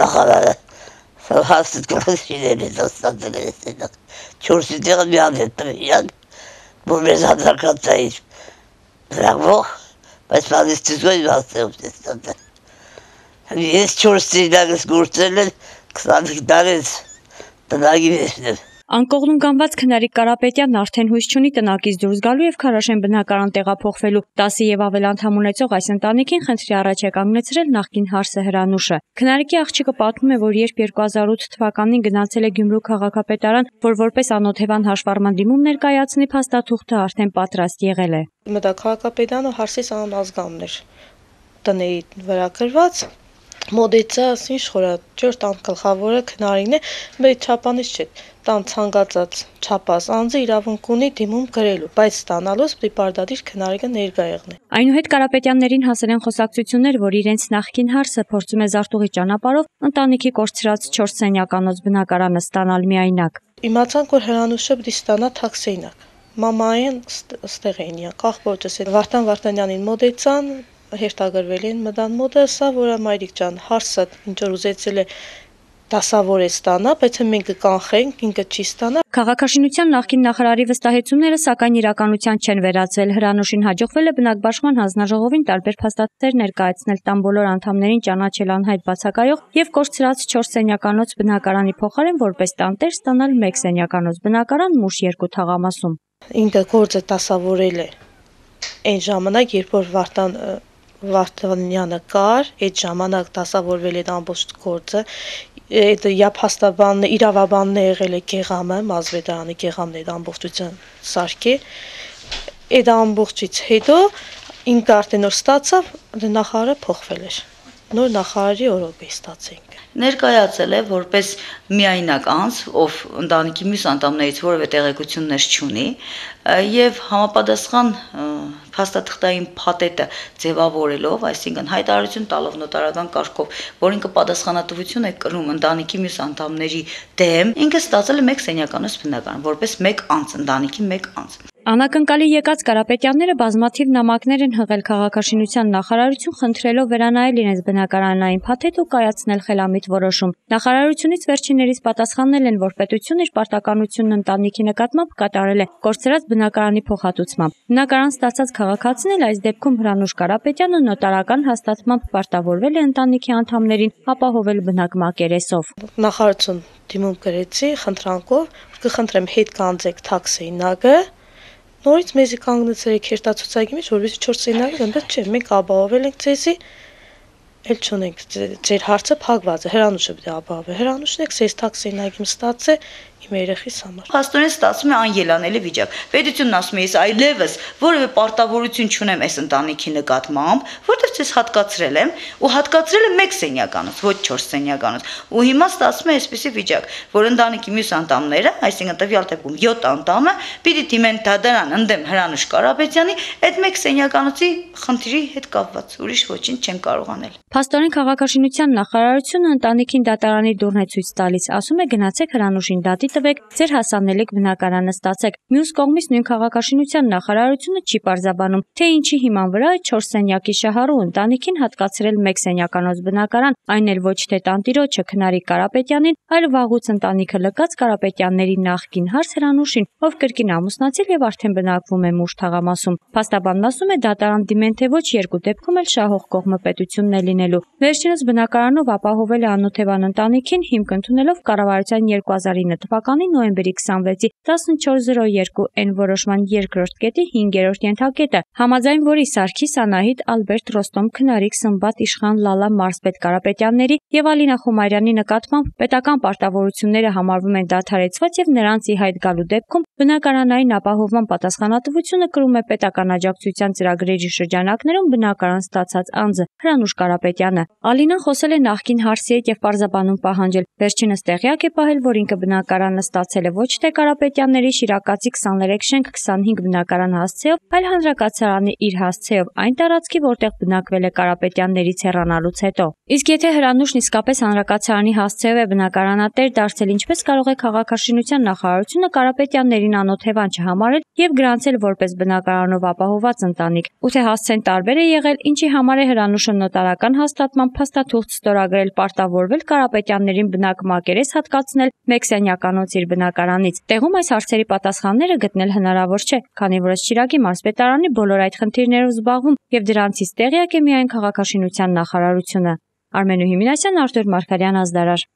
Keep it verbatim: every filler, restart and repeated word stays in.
նախարարը հաստ կլսիների դաստանցել չորսի տեղը մի հատ հետ տվիան, որ մեզ հանդարկացային բրավող, բայց պալիստիզոյն հաստեղում դեստանցել։ Ես չորս ծիրնագս գործել են քսանհինգ տարեց տնագի վեշնել։ Անկողնում գանված Քնարիկ Կարապետյանն արդեն հույս չունի տնակից դուրս գալու եւ Քարաշեն բնակարան տեղափոխվելու։ տասը եւ ավել անդամ ունեցող այս ընտանիքին խնդրի առաջ է կանգնեցրել նախկին հարսը Հրանուշը։ Քնարիկի աղջիկը պատմում է, որ երբ երկու հազար ութ թվականին գնացել է Գյումրու քաղաքապետարան, որ որպես անօթևան հաշվառման դիմում ներկայացնի, փաստաթուղթը արդեն պատրաստ եղել է։ Մտա քաղաքապետարանը հարսից անազգամն էր տնեի վրա գրված։ Մոդեցա ինչ խորա ճորտ ան գլխավորը Քնարինն է, բայց չափանից չէ։ Տան ցանկացած չափած անձը իրավունք ունի դիմում գրելու, բայց ստանալուց պիտի պարտադիր Քնարիկը ներկա եղնի։ Այնուհետ Կարապետյաններին հասել են խոսակցություններ, որ իրենց նախկին հարսը փորձում է զարտուղի ճանապարհով ընտանիքի կորցրած չորս սենյականոց բնակարանը ստանալ միայնակ։ Իմացանք, որ Հրանուշը պիտի ստանա թաքսեյնակ։ Մամային ստեղ էին յա կախվոճս Վարդան Վարդանյանին մոդեցան հերթագրվել են մտան մոդը, սա որը մայրիկ ջան հարսը ինչ որ ուզեցել է դասավոր է ստանա, բայց մենք կանխենք, ինքը չի ստանա։ Քաղաքաշինության նախկին նախարարի վստահեցումները սակայն իրականության չեն վերածվել։ Հրանուշին հաջողվել է բնակբաշխման հանձնաժողովին տարբեր փաստաթղթեր ներկայացնել տան բոլոր անդամներին ճանաչել անհայտ բացակայող եւ կորցրած չորս սենյականոց բնակարանի փոխարեն որպես տանտեր ստանալ մեկ սենյականոց բնակարան Մուշ երկու թաղամասում։ Ինքը գործը դասավորել է այն ժամանակ, երբ որ Վարդան Վարդանյանը կար, այդ ժամանակ դասավորվել է ամբողջ գործը։ Այդ իապաստաբանն իրավաբանն է եղել է Գեղամը, Մազվեդարանի Գեղամն է ամբողջության սարքի։ Այդ ամբողջից հետո ինքը արդեն որ ստացավ, նախարարը փոխվել էր։ Նոր նախարարի օրոք է ստացենք։ Ներկայացել է որպես միայնակ անձ, ով ընտանիքի մյուս անդամներից որևէ տեղեկություններ չունի եւ համապատասխան փաստաթղթային փաթեթը ձևավորելով, այսինքն հայտարարություն տալով նոտարական կարգով, որ ինքը պատասխանատվություն է կրում ընտանիքի մյուս անդամների դեմ, ինքը ստացել է մեկ սենյականոց բնակարան, որպես մեկ անձ, ընտանիքի մեկ անձ։ Անակնկալի եկած Կարապետյանները բազմաթիվ նամակներ են հղել քաղաքաշինության նախարարություն խնդրելով վերանայել իրենց բնակարանային փաթեթ ու կայացնել խելամիտ որոշում։ Նախարարությունից վերջիններից պատասխանել են, որ պետությունը իր պարտականությունն ընտանիքի նկատմամբ կատարել է կորցրած բնակարանի փոխհատուցմամբ։ Բնակարան ստացած քաղաքացին էլ այս դեպքում Հրանուշ Կարապետյանը նոտարական հաստատմամբ պարտավորվել է ընտանիքի անդամներին ապահովել բնակ մակերեսով։ Նախարարություն դիմում գրեցի խնդրանքով, կխնդրեմ հետ կանձեք թաքսեյնակը։ Նորից մեզի կանգնեցել եք հերթացուցակի մեջ, որովհետեւ չորս սենյակը այնպես չէ, մենք ապահովել ենք ձեզի, էլ չունենք ձեր հարցը փակված է, Հրանուշը պիտի ապահովի։ Հրանուշն եք ձեզ թաքսեյնակի ստացե իմ երեխիս համար։ Փաստորեն ստացվում է անելանելի վիճակ։ Պետությունն ասում է, ես այլևս որևէ պարտավորություն չունեմ այս ընտանիքի նկատմամբ, որտեղ ես հատկացրել եմ, ու հատկացրել եմ մեկ սենյականոց, ոչ չորս սենյականոց։ Ու հիմա ստացվում է այսպիսի վիճակ, որ ընտանիքի մյուս անդամները, այսինքն տվյալ դեպքում յոթ անդամը, պիտի դիմեն դատարան ընդդեմ Հրանուշ Կարապետյանի այդ մեկ սենյականոցի խնդրի հետ կապված, ուրիշ ոչինչ չեն կարող անել։ Փաստորեն քաղաքաշինության նախարարությունը ընտանիքին դատարանի դուռն է ցույց տալիս, ասում է գնացեք Հրանուշին դատի տվեք, ձեր հասանելիք բնակարանը ստացեք։ Մյուս կողմից նույն քաղաքաշինության նախարարությունը չի պարզաբանում, թե ինչի հիման վրա է չորս սենյակի շահառու ընտանիքին հատկացրել մեկ սենյականոց բնակարան, այն էլ ոչ թե տանտիրոջը Քնարիկ Կարապետյանին, այլ վաղուց ընտանիքը լքած Կարապետյանների նախկին հարս Հրանուշին, ով կրկին ամուսնացել եւ արդեն բնակվում է Մուշ թաղամասում։ Փաստաբանն ասում է դատարան դիմեն թե ոչ երկու դեպքում էլ շահող կողմը պետությունն է լինելու։ Վերջինս բնակարանով ապահովել է անօթևան ընտանիքին հիմք ընդունելով կառավարության երկու հազար ինը թվականի նոյեմբերի քսանվեցի տասնչորս զրո երկու N որոշման երկրորդ կետի հինգերորդ ենթակետը, համաձայն որի Սարգիս Անահիտ, Ալբերտ Ռոստոմ, Քնարիկ, Սմբատ, Իշխան, Լալա, Մարսպետ Կարապետյանների եւ Ալինա Խոմարյանի նկատմամբ պետական պարտավորությունները համարվում են դադարեցված եւ նրանց ի հայտ գալու դեպքում բնակարանային ապահովման պատասխանատվությունը կրում է պետական աջակցության ծրագրերի շրջանակներում բնակարան ստացած անձը Հրանուշ Կարապետյանը։ Ալինան խոսել է նախկին հարսի հետ եւ պարզաբանում պահանջել։ Վերջինս տեղյակ է պահել, որ ինքը բնակարան բնակարանը ստացել է ոչ թե Կարապետյանների Շիրակացի քսաներեք շենք քսանհինգ բնակարան հասցեով, այլ հանրակացարանի իր հասցեով այն տարածքի, որտեղ բնակվել է Կարապետյաններից հեռանալուց հետո։ Իսկ եթե Հրանուշն իսկապես հանրակացարանի հասցեով է բնակարանատեր դարձել, ինչպես կարող է քաղաքաշինության նախարարությունը Կարապետյաններին անօթևան չհամարել եւ գրանցել որպես բնակարանով ապահովված ընտանիք, ու թե հասցեն տարբեր է եղել, ինչի համար է Հրանուշը նոտարական հաստատման փաստաթուղթ ստորագրել, պարտավորվել Կարապետյաններին բնակմակերես հատկացնել մեկ սենյականոց իր բնակարանից։ Տեղում այս հարցերի պատասխանները գտնել հնարավոր չէ, քանի որ ըստ Շիրակի մարզպետարանի բոլոր այդ խնդիրներով զբաղվում եւ դրանցից տեղյակ է միայն քաղաքաշինության նախարարությունը։ Արմենուհի Մինասյան, Արտուր Մարգարյան, Ազդարար։